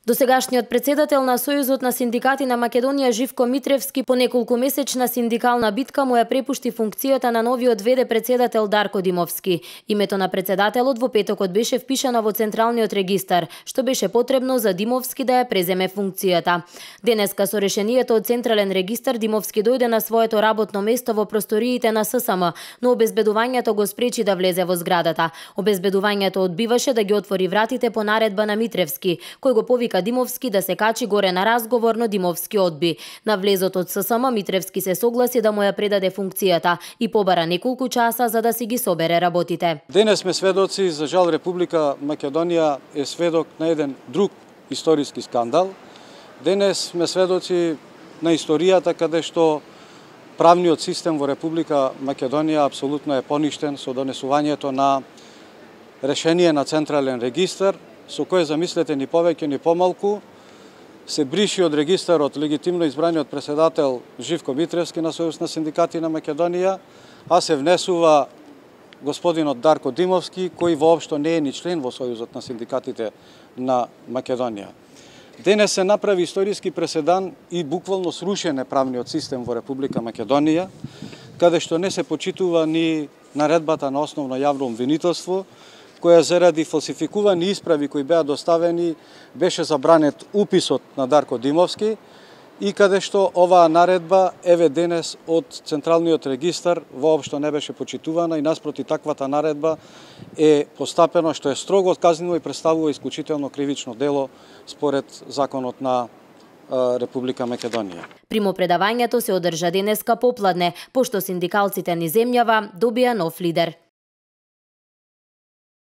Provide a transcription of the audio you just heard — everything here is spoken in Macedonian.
Досегашниот председател на Сојузот на синдикати на Македонија Живко Митревски по неколкумесечна синдикална битка му ја препушти функцијата на новиот ВД председател Дарко Димовски. Името на председателот во петокот беше впишано во Централниот регистар, што беше потребно за Димовски да ја преземе функцијата. Денеска со решението од Централен регистар Димовски дојде на своето работно место во просториите на ССМ, но обезбедувањето го спречи да влезе во зградата. Обезбедувањето одбиваше да ги отвори вратите по наредба на Митревски, кој го повика Димовски да се качи горе на разговор, но Димовски одби. На влезот од ССМ Митревски се согласи да му ја предаде функцијата и побара неколку часа за да си ги собере работите. Денес сме сведоци, за жал Република Македонија е сведок на еден друг историски скандал. Денес сме сведоци на историјата каде што правниот систем во Република Македонија апсолутно е поништен со донесувањето на решение на Централен регистар, со кое, замислете, ни повеќе ни помалку се бриши од регистарот легитимно избраниот председател Живко Митревски на Сојуз на синдикати на Македонија, а се внесува господинот Дарко Димовски, кој воопшто не е ни член во Сојузот на синдикатите на Македонија. Денес се направи историски преседан и буквално срушен е правниот систем во Република Македонија, каде што не се почитува ни наредбата на основно јавно обвинителство, која заради фалсификувани исправи кои беа доставени беше забранет уписот на Дарко Димовски и каде што оваа наредба еве денес од Централниот регистар воопшто не беше почитувана и наспроти таквата наредба е постапено што е строго казнино и представува исклучително кривично дело според законот на Република Македонија. Примопредавањето се одржа денеска попладне, пошто синдикалците низ земјава добија нов лидер.